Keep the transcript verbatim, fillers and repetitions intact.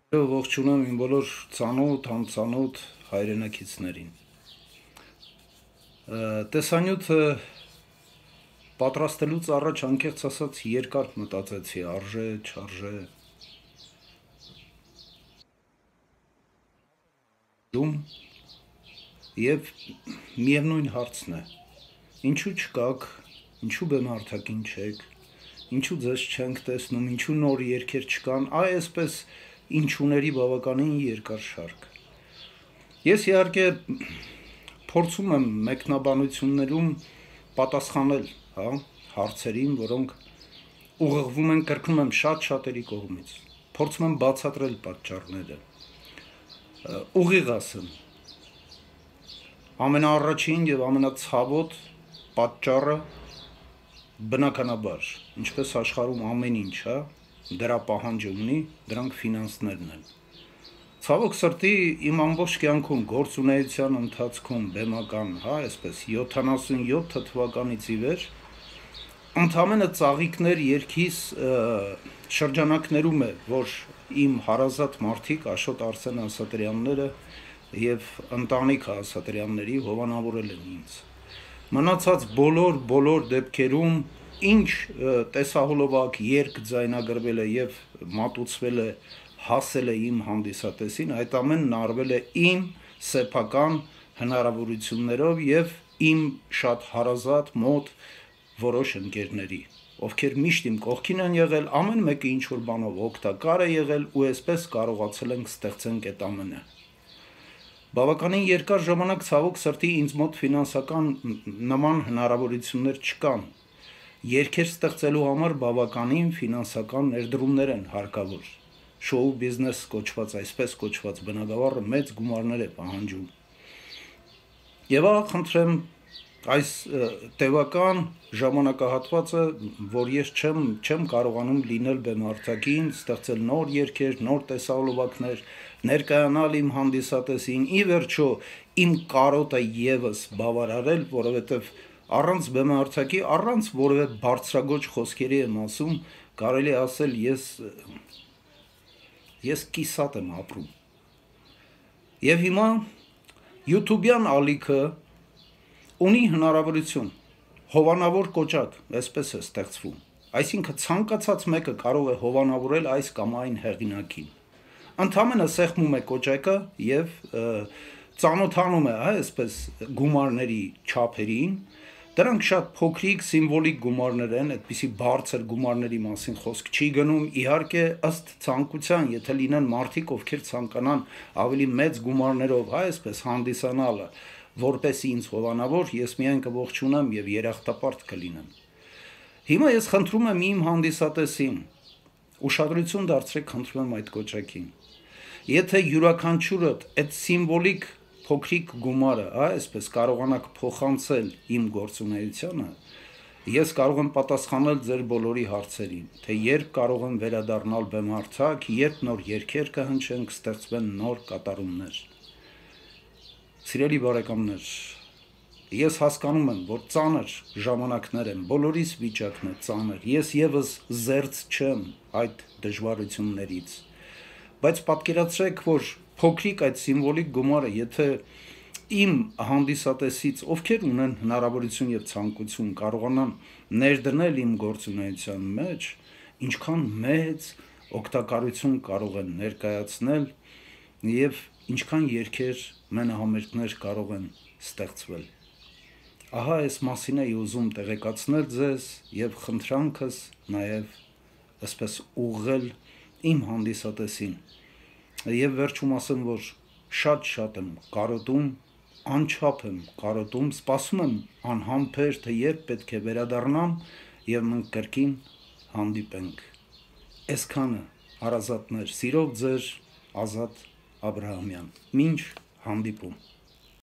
Ողջունում իմ բոլոր ծանոթ, անծանոթ հայրենակիցներին։ Տեսանյութը պատրաստելուց առաջ անկեղծ ասած երկար մտածեցի, արժե, չարժե։ Եվ միևնույն հարցն է. ինչու չկաք, ինչու բեմահարթակին չեք, ինչու ձեզ չենք տեսնում, ինչու նոր երգեր չկան, այ այսպես ինչուների բավականին երկար շարք։ Ես իհարկե փորձում եմ մեկնաբանություններում պատասխանել, հա, հարցերին, որոնք ուղղվում են, կրկնում եմ, շատ շատերի կողմից։ Փորձում եմ բացատրել պատճառները։ Ուղիղ ասեմ, ամենաառաջին եւ ամենացավոտ պատճառը բնականաբար, ինչպես աշխարհում ամեն ինչ, հա, դրա պահանջը ունի, դրանք ֆինանսներն են։ Ցավոք սրտի իմ ամբողջ կյանքում գործունեության ընթացքում բեմական, հա, այսպես յոթանասունյոթ թվականից ի վեր ընդամենը ծաղիկներ երգիս շրջանակներում է, որ իմ հարազատ մարդիկ Աշոտ Արսեն Ասատրյանները եւ ընտանիքը Ասատրյանների հովանավորել են ինձ։ Մնացած բոլոր բոլոր դեպքերում ինչ տեսահոլովակ երգ ձայնագրվել է եւ մատուցվել է, հասել է իմ հանդիսատեսին, այդ ամենն արվել է իմ սեփական հնարավորություններով եւ իմ շատ հարազատ մոտ որոշ ընկերների, ովքեր միշտ իմ կողքին են եղել, ամեն մեկը ինչ որ բանով օգտակար է եղել ու այսպես կարողացել ենք ստեղծենք այդ ամենը։ Բավականին երկար ժամանակ ցավոք սրտի ինձ մոտ ֆինանսական նման հնարավորություններ չկան։ Երգեր ստեղծելու համար բավականին ֆինանսական ներդրումներ են հարկավոր։ Շոու բիզնես կոչված, այսպես կոչված բնագավառը մեծ գումարներ է պահանջում։ Եվ ահա խնդրեմ այս տևական ժամանակահատվածը, որ ես չեմ չեմ կարողանում լինել բեմահարթակին, ստեղծել նոր երգեր, նոր տեսահոլովակներ, ներկայանալ իմ հանդիսատեսին, ի վերջո իմ կարոտը եւս բավարարել, որովհետեւ առանց բեմահարթակի, առանց որևէ բարձրագույն խոսքերի եմ ասում, կարելի է ասել ես ես կիսատ եմ ապրում։ Եվ հիմա YouTube-յան ալիքը ունի հնարավորություն, հովանավոր կոճակ, այսպես է ստեղծվում, այսինքն ցանկացած մեկը կարող է հովանավորել այս կամ այն հեղինակին։ Ընդամենը սեղմում է կոճակը եւ ծանոթանում է, հա, այսպես գումարների չափերին, դրանք շատ փոքրիկ սիմվոլիկ գումարներ են, այդպիսի բարձր գումարների մասին խոսք չի գնում, իհարկե ըստ ցանկության, եթե լինեն մարդիկ, ովքեր ցանկանան ավելի մեծ գումարներով, հա, այսպես հանդիսանալը, որպես ինձ հովանավոր, ես միայն կողջունեմ եւ երախտապարտ կլինեմ։ Հիմա ես խնդրում եմ իմ հանդիսատեսին, ուշադրություն դարձրեք, խնդրում եմ այդ կոճակին։ Եթե յուրաքանչյուրդ այդ սիմվոլիկ փոքրիկ գումարը, հա, այսպես կարողանաք փոխանցել իմ գործունեությանը, ես կարող եմ պատասխանել ձեր բոլորի հարցերին, թե երբ կարող եմ վերադառնալ բեմահարթակ, երբ նոր երգեր կհնչեն, կստեղծվեն նոր կատարումներ։ Սիրելի բարեկամներ, ես հասկանում եմ, որ ծանր ժամանակներ են, բոլորիս վիճակն է ծանր, ես եւս զերծ չեմ այդ դժվարություններից, բայց պատկերացրեք, որ փոքրիկ այդ սիմվոլիկ գումարը, եթե իմ հանդիսատեսից, ովքեր ունեն հնարավորություն եւ ցանկություն, կարողանան ներդնել իմ գործունեության մեջ, ինչքան մեծ օգտակարություն կարող են ներկայացնել եւ ինչքան երգեր մենահամերգներ կարող են ստեղծվել։ Ահա այս մասին էի ուզում տեղեկացնել ձեզ եւ խնդրանքս նաեւ այսպես ուղղել իմ հանդիսատեսին։ Եվ վերջում ասեմ, որ շատ-շատ եմ կարոտում, անչափ եմ կարոտում, սպասում եմ անհամբեր, թե երբ պետք է վերադառնամ եւ մենք կրկին հանդիպենք։ Այսքանը հարազատներ, սիրով ձեր Ազատ Աբրահամյան։ Մինչ հանդիպում։